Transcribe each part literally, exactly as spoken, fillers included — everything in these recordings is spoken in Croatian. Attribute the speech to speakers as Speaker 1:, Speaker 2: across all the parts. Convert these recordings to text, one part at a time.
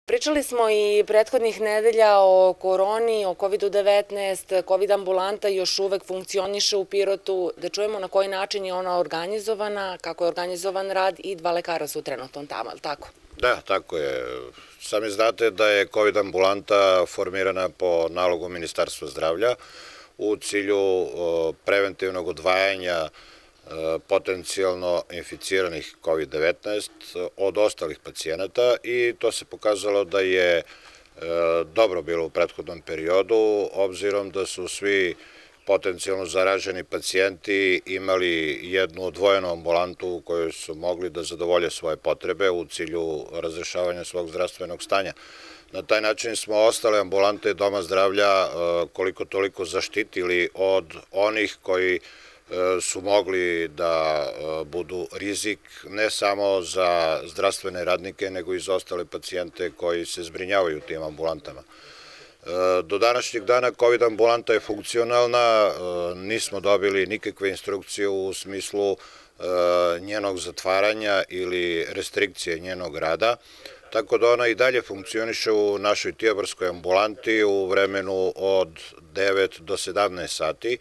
Speaker 1: Pričali smo i prethodnih nedelja o koroni, o kovidu devetnaest, kovid ambulanta još uvek funkcioniše u Pirotu, da čujemo na koji način je ona organizovana, kako je organizovan rad i dva lekara su trenutno tamo, ali tako?
Speaker 2: Da, tako je. Sami znate da je kovid ambulanta formirana po nalogu Ministarstva zdravlja u cilju preventivnog odvajanja potencijalno inficiranih kovid devetnaest od ostalih pacijenata i to se pokazalo da je dobro bilo u prethodnom periodu, obzirom da su svi potencijalno zaraženi pacijenti imali jednu odvojenu ambulantu u kojoj su mogli da zadovolje svoje potrebe u cilju razrešavanja svog zdravstvenog stanja. Na taj način smo ostale ambulante Doma zdravlja koliko toliko zaštitili od onih koji su mogli da budu rizik ne samo za zdravstvene radnike, nego i za ostale pacijente koji se zbrinjavaju u tim ambulantama. Do današnjeg dana kovid ambulanta je funkcionalna, nismo dobili nikakve instrukcije u smislu njenog zatvaranja ili restrikcije njenog rada, tako da ona i dalje funkcioniše u našoj tijabarskoj ambulanti u vremenu od devet do sedamnaest sati,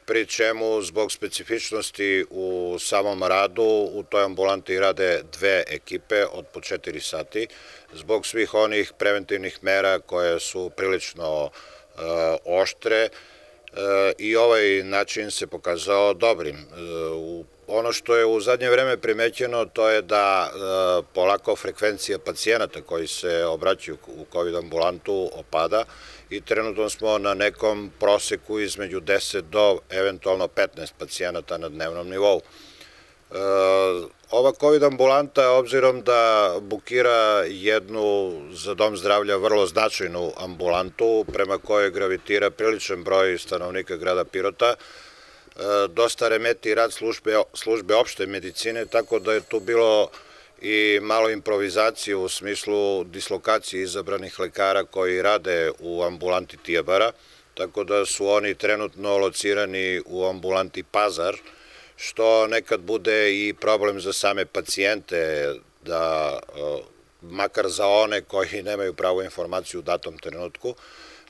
Speaker 2: pri čemu zbog specifičnosti u samom radu u toj ambulanti rade dve ekipe od po četiri sati, zbog svih onih preventivnih mera koje su prilično oštre i ovaj način se pokazao dobrim. Ono što je u zadnje vreme primećeno to je da polako frekvencija pacijenata koji se obraćaju u kovid ambulantu opada i trenutno smo na nekom proseku između deset do eventualno petnaest pacijenata na dnevnom nivou. Ova kovid ambulanta, obzirom da bukira jednu za Dom zdravlja vrlo značajnu ambulantu prema kojoj gravitira priličan broj stanovnika grada Pirota, dosta remeti rad službe, službe opšte medicine, tako da je tu bilo i malo improvizacije u smislu dislokacije izabranih lekara koji rade u ambulanti Tijabara, tako da su oni trenutno locirani u ambulanti Pazar, što nekad bude i problem za same pacijente, da makar za one koji nemaju pravu informaciju u datom trenutku.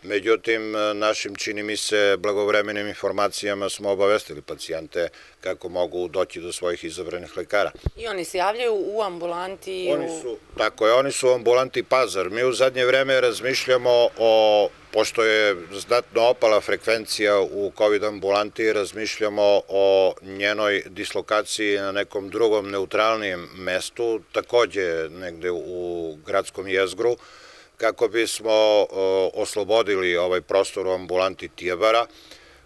Speaker 2: Međutim, našim, čini mi se, blagovremenim informacijama smo obavestili pacijente kako mogu doći do svojih izabranih lekara.
Speaker 1: I oni se javljaju u ambulanti?
Speaker 2: Oni su, tako je, oni su u ambulanti Pazar. Mi u zadnje vreme razmišljamo o, pošto je znatno opala frekvencija u kovid ambulanti, razmišljamo o njenoj dislokaciji na nekom drugom neutralnijem mestu, takođe negde u gradskom jezgru, kako bismo oslobodili ovaj prostor u ambulanti Tijabara.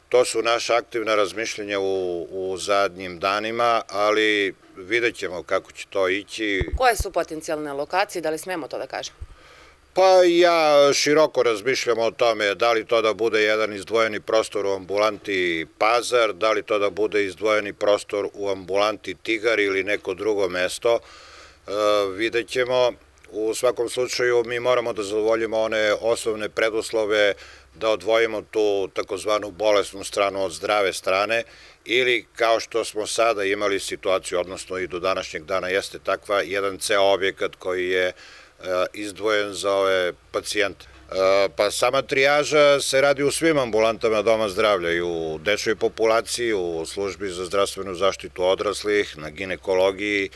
Speaker 2: To su naša aktivna razmišljenja u, u zadnjim danima, ali vidjet ćemo kako će to ići.
Speaker 1: Koje su potencijalne lokacije, da li smemo to da kažemo?
Speaker 2: Pa ja široko razmišljam o tome da li to da bude jedan izdvojeni prostor u ambulanti Pazar, da li to da bude izdvojeni prostor u ambulanti Tigar ili neko drugo mesto. E, vidjet ćemo. U svakom slučaju mi moramo da zadovoljimo one osnovne preduslove da odvojimo tu takozvanu bolesnu stranu od zdrave strane ili kao što smo sada imali situaciju, odnosno i do današnjeg dana jeste takva, jedan ceo objekat koji je izdvojen za ove pacijente. Pa sama trijaža se radi u svim ambulantama Doma zdravlja, i u dečjoj populaciji, u službi za zdravstvenu zaštitu odraslih, na ginekologiji,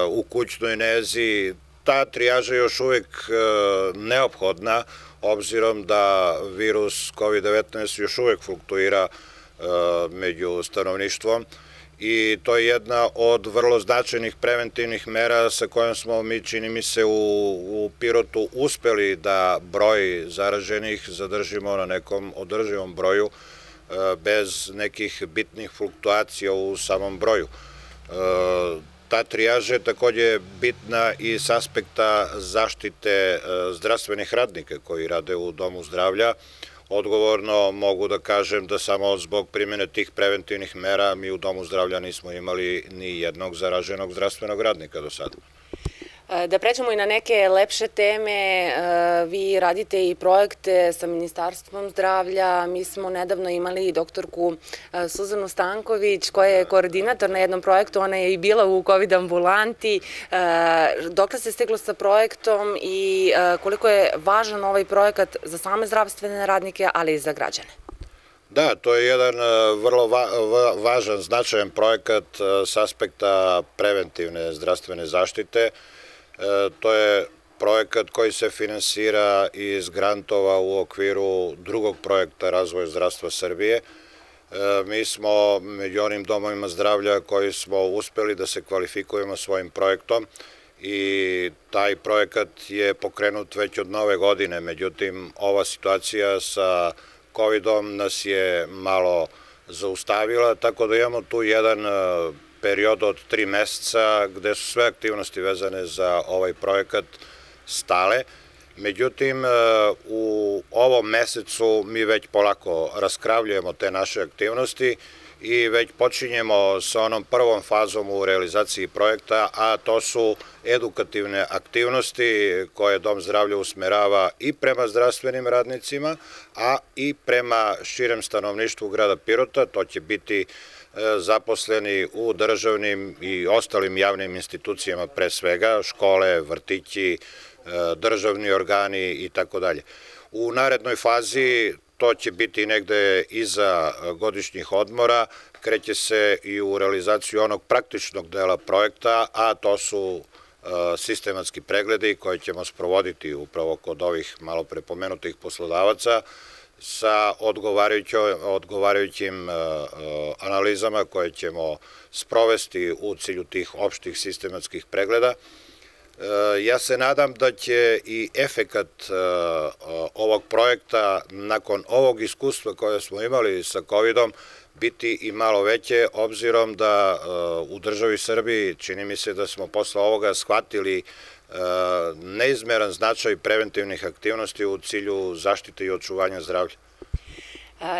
Speaker 2: u kućnoj nezi. Ta trijaža je još uvek neophodna, obzirom da virus kovid devetnaest još uvek fluktuira među stanovništvom i to je jedna od vrlo značajnih preventivnih mera sa kojom smo mi, čini mi se, u, u Pirotu uspeli da broj zaraženih zadržimo na nekom održivom broju bez nekih bitnih fluktuacija u samom broju. Ta trijaža je takođe bitna i s aspekta zaštite zdravstvenih radnika koji rade u Domu zdravlja. Odgovorno mogu da kažem da samo zbog primjene tih preventivnih mera mi u Domu zdravlja nismo imali ni jednog zaraženog zdravstvenog radnika do sada.
Speaker 1: Da pređemo i na neke lepše teme, vi radite i projekte sa Ministarstvom zdravlja. Mi smo nedavno imali doktorku Suzanu Stanković koja je koordinator na jednom projektu, ona je i bila u kovid ambulanti. Dokle se stiglo sa projektom i koliko je važan ovaj projekat za same zdravstvene radnike, ali i za građane?
Speaker 2: Da, to je jedan vrlo važan, značajan projekat s aspekta preventivne zdravstvene zaštite. To je projekat koji se finansira iz grantova u okviru drugog projekta Razvoja zdravstva Srbije. Mi smo među onim domovima zdravlja koji smo uspeli da se kvalifikujemo svojim projektom i taj projekat je pokrenut već od nove godine. Međutim, ova situacija sa kovidom nas je malo zaustavila, tako da imamo tu jedan period od tri meseca gde su sve aktivnosti vezane za ovaj projekat stale. Međutim, u ovom mesecu mi već polako raskravljujemo te naše aktivnosti i već počinjemo sa onom prvom fazom u realizaciji projekta, a to su edukativne aktivnosti koje Dom zdravlja usmerava i prema zdravstvenim radnicima, a i prema širem stanovništvu grada Pirota. To će biti zaposleni u državnim i ostalim javnim institucijama, pre svega škole, vrtići, državni organi i tako dalje. U narednoj fazi to će biti negde iza godišnjih odmora, kreće se i u realizaciju onog praktičnog dela projekta, a to su sistematski pregledi koje ćemo sprovoditi upravo kod ovih malo prepomenutih poslodavaca sa odgovarajućim analizama koje ćemo sprovesti u cilju tih opštih sistematskih pregleda. Ja se nadam da će i efekat ovog projekta nakon ovog iskustva koje smo imali sa kovidom biti i malo veće, obzirom da u državi Srbiji čini mi se da smo posle ovoga shvatili neizmeran značaj preventivnih aktivnosti u cilju zaštite i očuvanja zdravlja.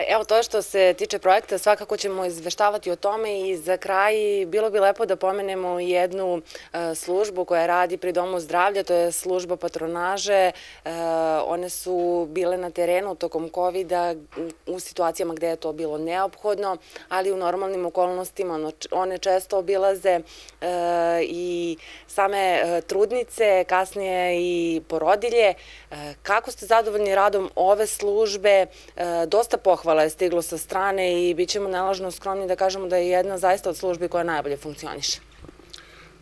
Speaker 1: Evo, to što se tiče projekta, svakako ćemo izveštavati o tome i za kraj bilo bi lepo da pomenemo jednu službu koja radi pri Domu zdravlja, to je služba patronaže. One su bile na terenu tokom kovida u situacijama gde je to bilo neophodno, ali u normalnim okolnostima one često obilaze i same trudnice, kasnije i porodilje. Kako ste zadovoljni radom ove službe? Dosta pohvala je stiglo sa strane i bit ćemo nelažno skromni da kažemo da je jedna zaista od službi koja najbolje funkcioniše.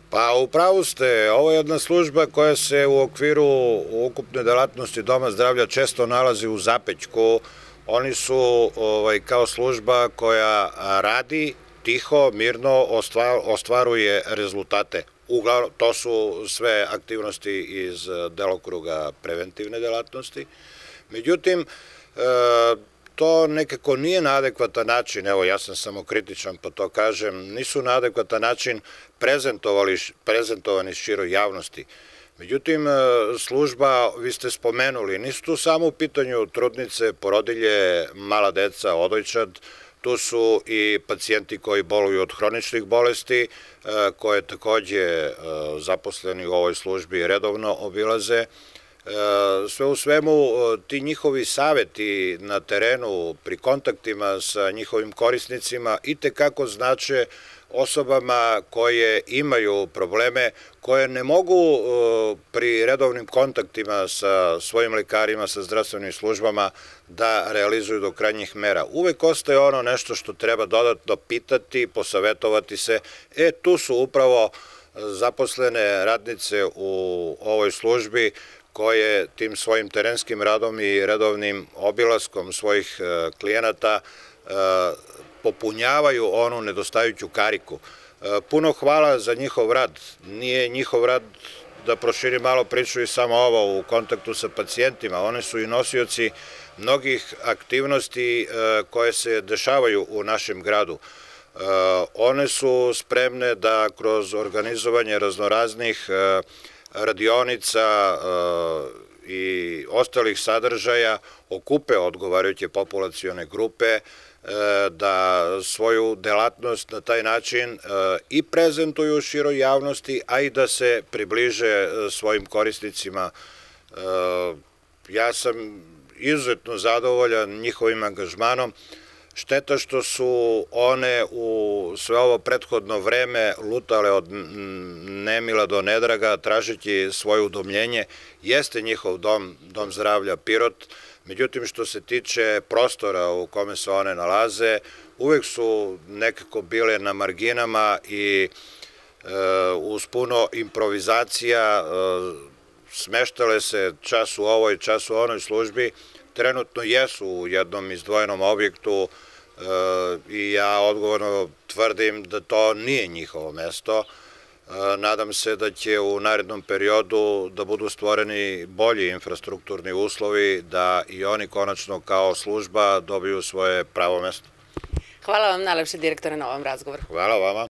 Speaker 2: Pa upravo ste, ovo je jedna služba koja se u okviru ukupne delatnosti Doma zdravlja često nalazi u zapećku. Oni su kao služba koja radi tiho, mirno, ostvaruje rezultate. Uglavnom, to su sve aktivnosti iz delokruga preventivne delatnosti. Međutim, to nekako nije na adekvatan način, evo ja sam samo kritičan pa to kažem, nisu na adekvatan način prezentovani široj javnosti. Međutim, služba, vi ste spomenuli, nisu tu samo u pitanju trudnice, porodilje, mala deca, odojčad, tu su i pacijenti koji boluju od hroničnih bolesti, koje takođe zaposleni u ovoj službi redovno obilaze. Sve u svemu, ti njihovi saveti na terenu pri kontaktima sa njihovim korisnicima i tekako znače osobama koje imaju probleme, koje ne mogu pri redovnim kontaktima sa svojim lekarima, sa zdravstvenim službama da realizuju do krajnjih mera. Uvek ostaje ono nešto što treba dodatno pitati, posavetovati se. E, tu su upravo zaposlene radnice u ovoj službi koje tim svojim terenskim radom i redovnim obilaskom svojih klijenata popunjavaju onu nedostajuću kariku. Puno hvala za njihov rad. Nije njihov rad, da proširim malo priču i samo ovo, u kontaktu sa pacijentima. One su i nosioci mnogih aktivnosti koje se dešavaju u našem gradu. One su spremne da kroz organizovanje raznoraznih radionica i ostalih sadržaja okupe odgovarajuće populacione grupe, da svoju delatnost na taj način i prezentuju široj javnosti, a i da se približe svojim korisnicima. Ja sam izuzetno zadovoljan njihovim angažmanom. Šteta što su one u sve ovo prethodno vreme lutale od nemila do nedraga, tražeći svoje udomljenje. Jeste njihov dom, dom zdravlja Pirot, međutim što se tiče prostora u kome se one nalaze, uvek su nekako bile na marginama i uz puno improvizacija smeštale se čas u ovoj, čas u onoj službi. Trenutno jesu u jednom izdvojenom objektu i ja odgovorno tvrdim da to nije njihovo mesto. Nadam se da će u narednom periodu da budu stvoreni bolji infrastrukturni uslovi, da i oni konačno kao služba dobiju svoje pravo mesto.
Speaker 1: Hvala vam najlepše, direktore, na ovom razgovoru.
Speaker 2: Hvala vama.